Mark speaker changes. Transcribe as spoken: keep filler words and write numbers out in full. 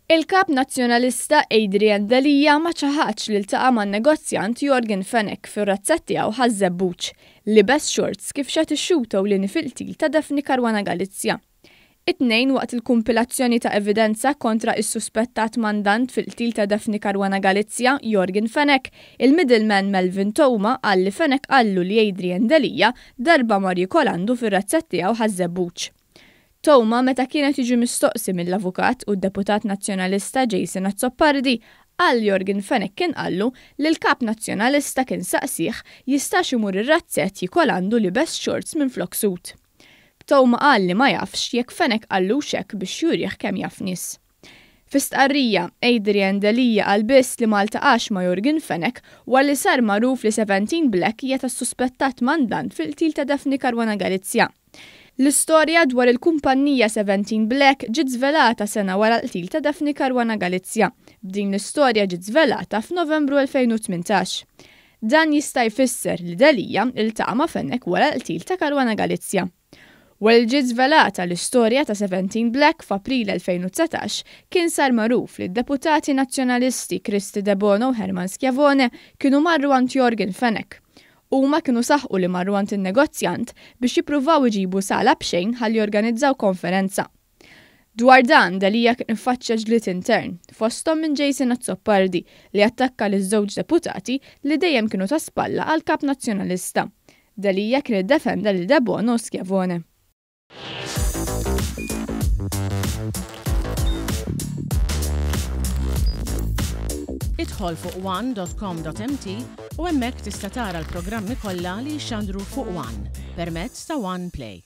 Speaker 1: Il-kap nazzjonalista Adrian Delia ma ċaħadx li ltaqa' man-negozjant Yorgen Fenech fir-razzett tiegħu Ħaż-Żebbuġ, libes shorts kif xehed ix-xhud ewlieni fil-qtil ta' Daphne Caruana Galizia. It-Tnejn waqt il-kumpilazzjoni ta' evidenza kontra is-suspettat mandant fil-qtil ta' Daphne Caruana Galizia, Yorgen Fenech, il-middleman Melvin Theuma qal li Fenech qallu li Adrian Delia darba mar jiekol għandu fir-razzett tiegħu Ħaż-Żebbuġ. Theuma meta kienet jiġi mistoqsi mill-avukat u d-deputat nazzjonalista Jason Azzopardi qal Yorgen Fenech kien qallu li l-kap nazzjonalista kien saqsih jistax imur ir-razzett jiekol għandu libes shorts minn flok suit. Theuma qal li ma jafx jekk Fenech qallu hekk biex jurih kemm jaf nies. Fi stqarrija, Adrian Delia qal biss li ma ltaqax ma' Yorgen Fenech wara li sar magħruf li Seventeen Black hija tas-suspettat mandant fil-qtil ta' Daphne Caruana Galizia. L-istorja dwar il-kumpanija Seventeen Black ġiet żvelata sena wara l-qtil ta' Daphne Caruana Galizia. B'din l-istorja ġiet żvelata f'Novembru elfejn u tmintax. Dan jista' jfisser li Delia iltaqa' ma' Fenech wara l-qtil ta' Caruana Galizia. Wara li ġiet żvelata l-istorja ta' Seventeen Black f'April elfejn u dsatax, kien sar magħruf li d-deputati nazzjonalisti Kristy Debono u Herman Schiavone kienu marru għand Yorgen Fenech. Huma kienu saħqu li marru għand in-negozjant biex jippruvaw iġibu sala b'xejn ħalli jorganizzaw konferenza. Dwar dan, Delia kien iffaċċja ġlied intern, fosthom minn Jason Azzopardi li attakka liż-żewġ deputati li dejjem kienu ta' spalla għal kap nazzjonalista. Delia kien iddefenda lil Debono u Schiavone.
Speaker 2: Idħol fuq one dot com dot m t u hemmhekk tista' tara l-programmi kollha li jixxandru fuq One permezz ta' One Play.